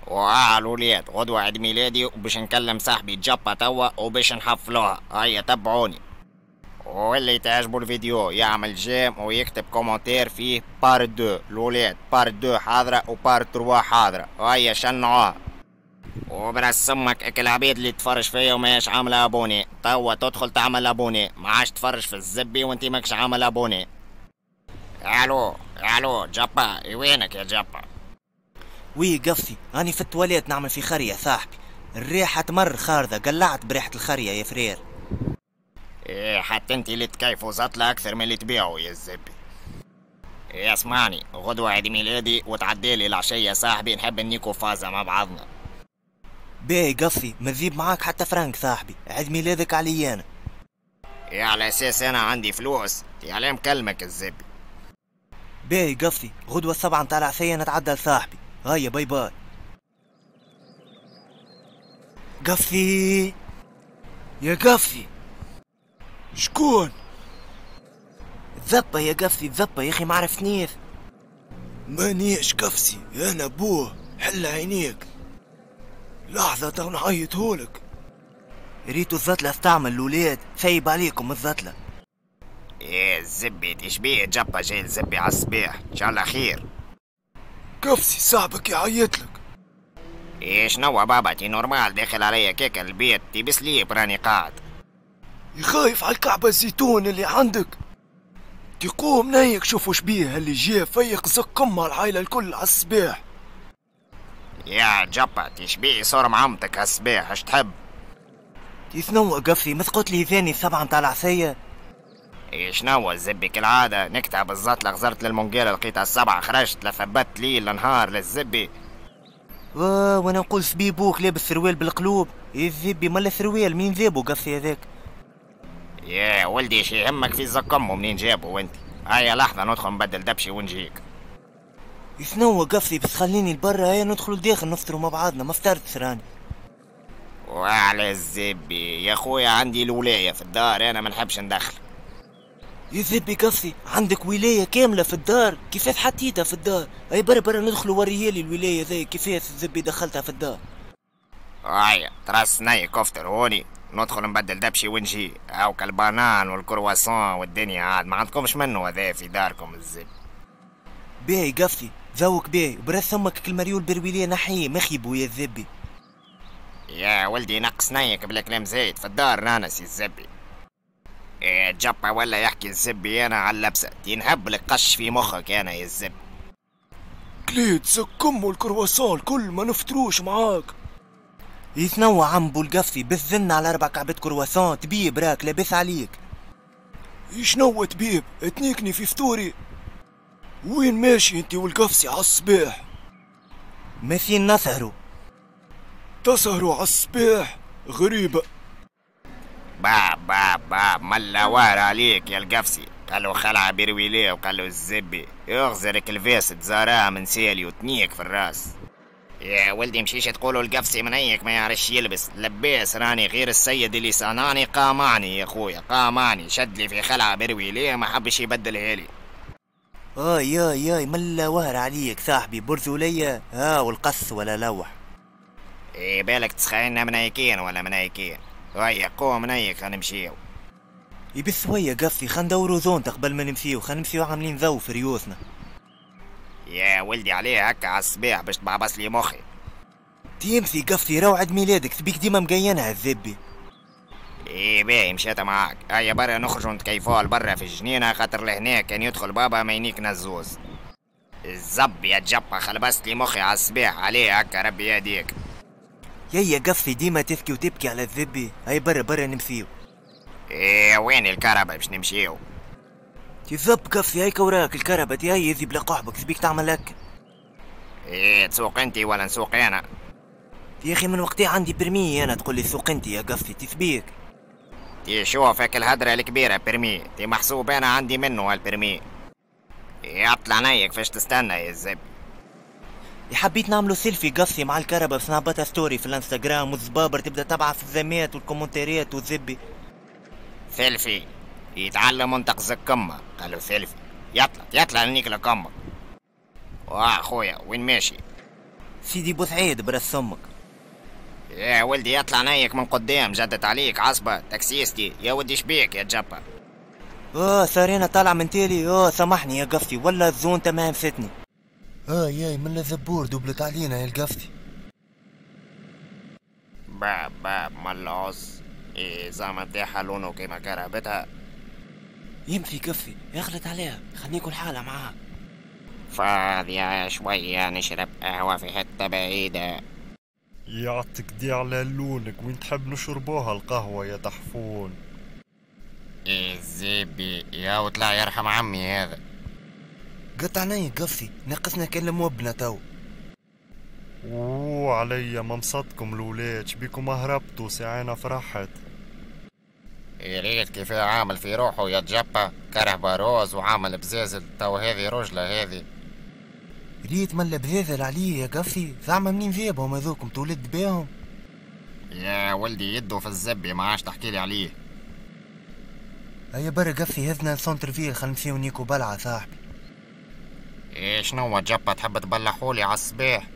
وعلى الولاد غدوة عيد ميلادي وباش نكلم صاحبي جابا توا وباش نحفلوها. هيا تبعوني، واللي تعجبو الفيديو يعمل j'aime ويكتب commentaire فيه part deux. الولاد part deux حاضرة و part trois حاضرة، هيا شنعوها. وبرس امك اك العبيد اللي تفرج فيا وماش عامله abonné، توا تدخل تعمل abonné، ما عادش تفرج في الزبي وانت ماكش عامل abonné. الو الو جابا، وينك يا جابا؟ oui قفصي، راني في التواليت نعمل في خرية صاحبي، الريحة تمر خارضة، قلعت بريحة الخرية يا frère. ايه حتى انت اللي تكيفوا زطلة اكثر من اللي تبيعوا يا الزبي. إيه اسمعني، غدوة عيد ميلادي وتعديلي العشية صاحبي، نحب نيكو فازة مع بعضنا. باهي قفصي، ما تذيب معاك حتى فرانك صاحبي، عيد ميلادك علي انا. إيه على اساس انا عندي فلوس، يا علاه مكلمك الزبي. باهي قفصي، غدوة 7 متاع العشية نتعدى لصاحبي، هيا bye bye. قفصي يا قفصي. شكون؟ ذبة يا قفصي، ذبة يا اخي، ما عرفتنيش. مانيش قفصي، انا بوه، حل عينيك. لحظة تو نعيطهولك. ريتو الزطلة استعمل الولاد، سايب عليكم الزطلة. ايه الزبي تشبيه جابا جاي الزبي على الصباح، ان شاء الله خير. قفصي صاحبك يعيطلك. ايه شنو بابا، تي normal داخل عليا كيكة البيت، تي بسليب راني قاعد. يخايف على الكعبة الزيتون اللي عندك. تقوم نايك شوفوا شبيه اللي جا فيق زقمها العائلة الكل على الصباح. يا جابا تشبيه صور معمتك على الصباح، اش تحب؟ يثنو قفصي، ما تقول لي ثاني 7 متاع العشية. إيه شنو الزبي كالعادة نكتب بالزطلة، غزرت للمونجيرة لقيتها 7، خرجت لثبت ليل نهار للزبي. وانا نقول سبيبوك لابس سروال بالقلوب، إيه الزبي ملا سروال مين ذابو قفصي هذاك؟ يا ولدي شي يهمك في زقمه منين جابو انت؟ هيا لحظة ندخل نبدل دبشي ونجيك. يثنو قفصي، بس خليني لبرا، هيا ندخلوا لداخل نفطروا مع بعضنا، ما فطرتش راني. وعلى الزبي يا خويا عندي الولاية في الدار، انا ما نحبش ندخل. يا زبي قفصي عندك ولاية كاملة في الدار، كيفاش حطيتها في الدار؟ اي برا برا ندخلوا وريالي الولاية ذي كيفاش الزبي دخلتها في الدار. هيا تراس ناي كفتر هوني، ندخل نبدل دبشي ونجي. هاوكا البنان والكرواسون والدنيا عاد ما عندكمش منه هذا في داركم الزب. باهي قفصي، ذوق باهي، براس امك المريول برويلية نحيه مخيبو يا الزبي. يا ولدي نقص نيك بلا كلام زايد، في الدار رانا سي الزبي. إيه جبا ولا يحكي الزبي انا على اللبسة، تنهب لك قش في مخك انا يا الزبي. كليت زكم والكرواسون الكل ما نفطروش معاك. يتنوع عم بو القفصي، بالذن على 4 كعبات كرواسون، تبيب راك لاباس عليك. شنو تبيب؟ تنيكني في فطوري. وين ماشي انت والقفصي على الصباح؟ ماشيين نسهروا. تسهروا على الصباح؟ غريبة. با با با ملا وار عليك يا القفصي، قالوا خلع برويليه وقالوا الزبي يغزرك الفيس تزاراه من سالي وتنيك في الراس. يا ولدي مشيش تقولوا القفصي منيك ما يعرفش يلبس، لباس راني غير السيد اللي صنعني قامعني يا خويا، قامعني شد لي في خلعة برويليه ما حبش يبدلها لي. اي اي اي ملا وهر عليك صاحبي، برزولية ها والقص ولا لوح. ايه بالك تسخينا منيكين ولا منيكين، هيا قوم منيك خلينا نمشيو. يبث شوية قفصي، خلينا ندورو زونتا قبل ما نمشيو، خلينا نمشيو عاملين ذو في ريوسنا. يا ولدي عليه هكا على الصباح باش تبعبص لي مخي. تيمسي قفصي راهو عيد ميلادك، تبيك ديما مقينها الذبي. ايه باهي مشيت معاك، هيا برا نخرجوا نتكيفوها لبرا في الجنينة، خاطر لهنا كان يدخل بابا ما ينيكنا الزوز. الزب يا جبا خلبست لي مخي على الصباح عليه هكا ربي يهديك. يا قفصي ديما تبكي وتبكي على الذبي، هيا برا برا نمشيو. ايه وين الكهرباء باش نمشيو؟ تذب قفصي هيك وراك الكهرباء تي هي ذي بلا قحبك تبيك تعمل هكا. ايه تسوق انت ولا نسوق انا؟ يا اخي من وقتها عندي permis انا، تقول لي سوق انت يا قفصي تثبيك. تي شوف هيك الهدرة الكبيرة permis، تي محسوب انا عندي منه هال permis. يطلع نيك فاش تستنى يا الزب. حبيت نعملو سيلفي قفصي مع الكهرباء باش نهبطها story في الانستغرام والزبابر تبدا تبعث الزمات والكومنتاريات والزبي. سيلفي يتعلم منطق زكمة، قالوا سيلفي يطلع يطلع نيك لكمة. واه خويا وين ماشي؟ سيدي بوسعيد براس امك. يا ولدي يطلع نيك من قدام، جدت عليك عصبة تاكسيستي. يا ولدي شبيك يا جبا؟ صارينا طالع من تالي. سامحني يا قفتي ولا ال zone تمام فتني. ياي من الزبور دوبلت علينا يا القفتي. باب باب ملعوز إيه زعما تاعها لونه كيما كرهبتها. يمشي كفي يخلط عليها، خليني نكون حالة معاها. فاضية شوية نشرب قهوة في حتة بعيدة. يعطيك دي على لونك، وين تحب نشربوها القهوة يا تحفون؟ إيه زبي يا وطلع يرحم عمي هذا. قطعني قفي، ناقصنا كلم وبنا تو. اوه عليا ممصدكم الولاد، شبيكم هربتوا ساعينا فرحت. يا ريت كيف عامل في روحه يا جبا، كرهبة rose وعامل بزازل، تو هذه رجلة هذه. ريت ملا بزازل عليه يا قفي، زعما منين جابهم هذوكم تولد بيهم؟ يا ولدي يدو في الزبي ما عادش تحكيلي عليه. هيا برا قفي هزنا centre-ville خلينا نمشيو نيكو بلعة صاحبي. ايه شنو جبا تحب تبلحولي على الصباح؟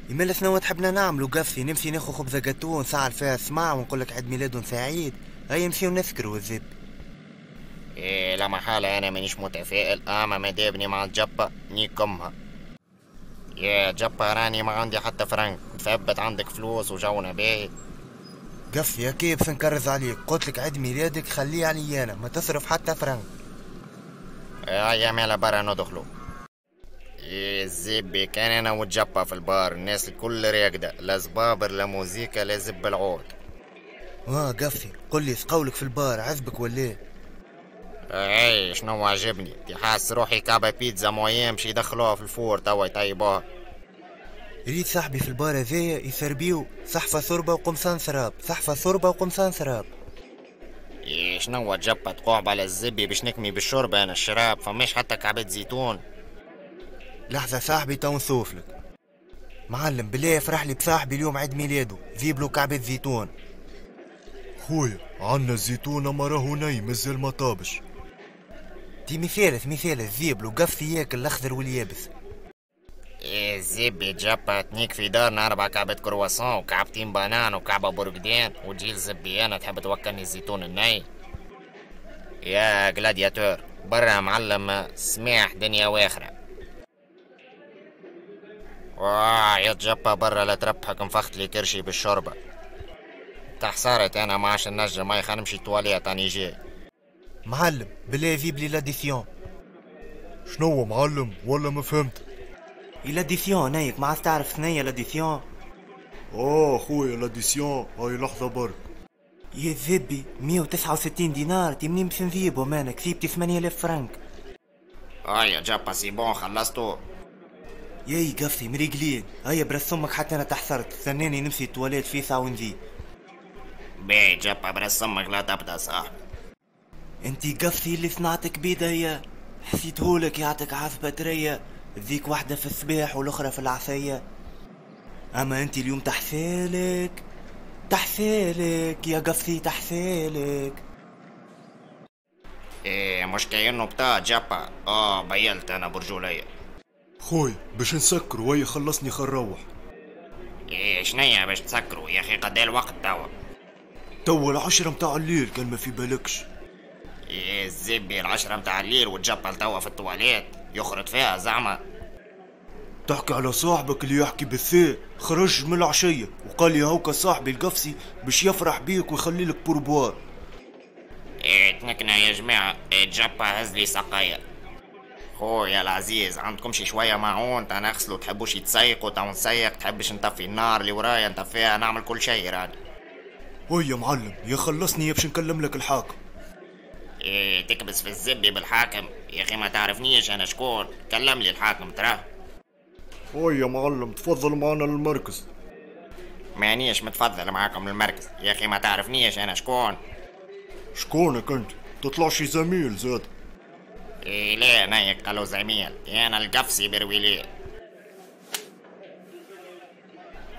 يمال شنو تحبنا نعملو قفي؟ نمشي ناخو خبزة جاتو ونسعل فيها السماع ونقولك عيد ميلاد سعيد، هيا نمشيو نسكرو الزب. إيه لا محالة أنا مانيش متفائل، أما ما دابني مع الجبة نيكمها. يا جبة راني ما عندي حتى فرنك، ثبت عندك فلوس وجونا باهي. قفي يا كيف نكرز عليك، قلتلك عيد ميلادك خليه علي أنا، ما تصرف حتى فرنك. يا مالا برا ندخلو. يا زبي كان أنا والجبة في البار، الناس الكل راقدة، لا زبابر لا موزيكا لا زب العود. قفي قل لي قولك في البار عزبك ولا؟ اي شنو عجبني؟ تي حاس روحي كعبة بيتزا moyenne باش يدخلوها في ال four توا يطيبوها. ريت صاحبي في البار هذايا يسربيو صحفة ثربة وقمصان سراب، صحفة ثربة وقمصان سراب. إيه شنو جبة تقعب على الزبي باش نكمي بالشربة انا الشراب، فماش حتى كعبة زيتون. لحظة صاحبي تو نصوفلك. معلم بالله افرح لي بصاحبي اليوم عيد ميلاده، جيب له كعبة زيتون. خويا عنا الزيتون اما راهو ني مازال ما طابش. تي مثالث مثالث ذيب له قفي ياكل الاخضر واليابس. إيه زبي جبا تنيك في دارنا 4 كعبة كرواسون وكعبتين بنان وكعبة برقدين وتجي الزبي انا تحب توكلني الزيتون الني؟ يا gladiateur برا معلم سماح دنيا واخرة. واه يا جبا برا لا تربحك نفخت لي كرشي بالشوربة. تحصرت انا ما عادش نجم، هاي خلينا نمشي تواليت راني جاي. معلم بالله جيب لي l'addition. شنو معلم ولا ما فهمت؟ l'addition نايك ما عاد تعرف ثنية l'addition. خويا l'addition هاي لحظة برك. يا ذبي 169 دينار، تي منين باش نجيبهم انا؟ كسيبتي 8000 فرنك. هيا جابا c'est bon خلصتو. ياي قفي مريقلين، هيا براس امك حتى انا تحصرت، استناني نمشي التواليت في ساعة ونجي. باهي جابا براس امك لا تبدا صاحبي. انتي قفي اللي صنعتك بيديا، حسيتهولك يعطيك عصبة تريا، ذيك واحدة في الصباح والاخرى في العشية. اما انتي اليوم تحسالك تحسالك يا قفي تحسالك. ايه مش كأنه بتاع جابا. بيلت انا برجولية. خوي باش نسكروا وهي خلصني خنروح. ايه شنيا باش تسكروا يا اخي؟ قد الوقت توا؟ توا 10 متاع الليل كان ما في بالكش. ايه الزبي 10 متاع الليل وتجبل توا في التواليت يخرط فيها زعما. تحكي على صاحبك اللي يحكي بالثاء، خرج من العشية وقال لي هوكا صاحبي القفصي باش يفرح بيك ويخلي لك pourboire. ايه تنكنا يا جماعة. ايه جبا هز لي سقايا. خويا العزيز عندكم شي شوية معون تا نغسلو؟ تحبوش يتسيقوا تا نسيق؟ تحبش نطفي النار اللي ورايا نطفيها؟ نعمل كل شي راني. ويا معلم يا خلصني يا باش نكلم لك الحاكم. ايه تكبس في الزبي بالحاكم يا اخي؟ ما تعرفنيش انا شكون؟ كلم لي الحاكم تراه. ويا معلم تفضل معنا للمركز. مانيش متفضل معاكم للمركز يا اخي، ما تعرفنيش انا شكون. شكونك انت؟ تطلعش زميل زاد. إيه لا نايك قالوا زميل، انا القفصي برويلي.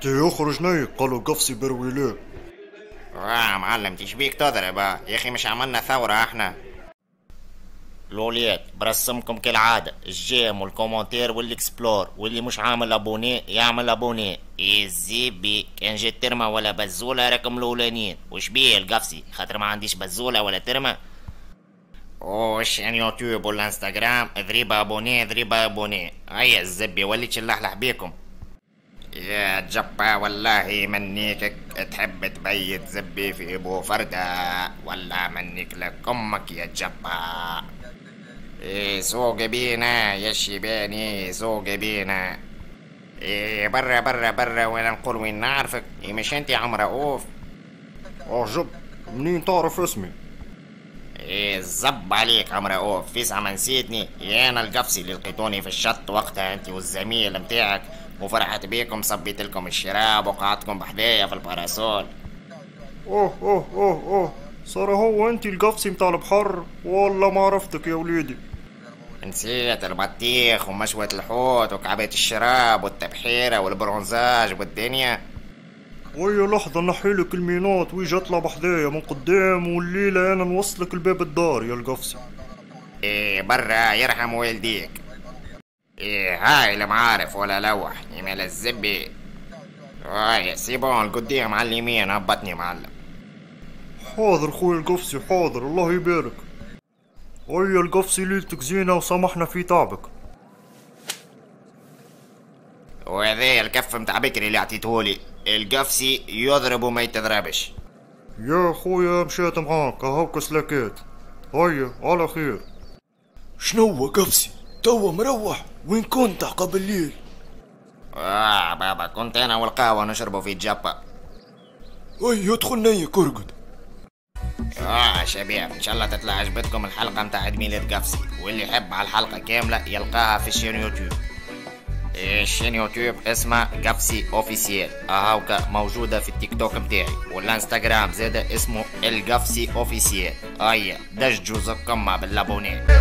تي يخرج نايك قالوا قفصي برويلي. واه معلم تشبيك تضرب يا اخي؟ مش عملنا ثورة احنا؟ الولاد برسمكم كالعادة ال j'aime وال commentaire وال explore، واللي مش عامل abonné يعمل abonné. الزبي كان جيت ترمى ولا بزولة راكم الاولانيين. وش بيه القفصي خاطر ما عنديش بزولة ولا ترمى. وال chaîne يوتيوب والانستغرام ضريبة abonné ضريبة abonné. هيا الزبي وليت شلحلح بيكم يا جبا، والله منيكك تحب تبيت زبي في ابو فردة، ولا منيك لك امك يا جبا. إيه سوق بينا يا شيباني، سوق بينا. إيه برا برا برا، وانا نقول وين نعرفك؟ إيه مش انت عم رؤوف؟ عجب، منين تعرف اسمي؟ إيه الزب عليك عم رؤوف، فيسع ما نسيتني؟ يا انا القفصي اللي لقيتوني في الشط وقتها انت والزميل متاعك، وفرحت بيكم صبيت لكم الشراب وقعدتكم بحدايا في ال parasol. اوه اوه اوه اوه، صار هو انت القفصي متاع البحر؟ والله ما عرفتك يا وليدي. نسيت البطيخ ومشوة الحوت وكعبة الشراب والتبحيرة وال bronzage والدنيا. ويا لحظة نحيلك ال menottes ويجي اطلع بحذايا من قدام، والليلة انا نوصلك لباب الدار يا القفصي. ايه برا يرحم والديك. ايه هاي المعارف ولا لوح يمال الزبي. هاي c'est bon القدام على اليمين، هبطني معلم. حاضر خويا القفصي حاضر، الله يبارك. هيا القفصي ليلتك زينة وسامحنا في تعبك. وهذا الكف متاع بكري اللي عطيتهولي، القفصي يضرب وما يتضربش. يا خويا مشيت معاك هاوك سلاكات. هيا على خير. شنو قفصي توا مروح؟ وين كنت عقب الليل؟ بابا كنت انا والقهوة نشربوا في جابا. هيا ادخل نيك ارقد. شباب ان شاء الله تطلع عجبتكم الحلقة متاع عيد ميلاد قفصي، واللي يحب على الحلقة كاملة يلقاها في ال chaîne يوتيوب. ال chaîne يوتيوب اسمها قفصي officiel، اهاوكا موجودة في التيك توك متاعي والانستغرام زادة اسمه القفصي officiel. هيا دججوا زكمة بال abonné.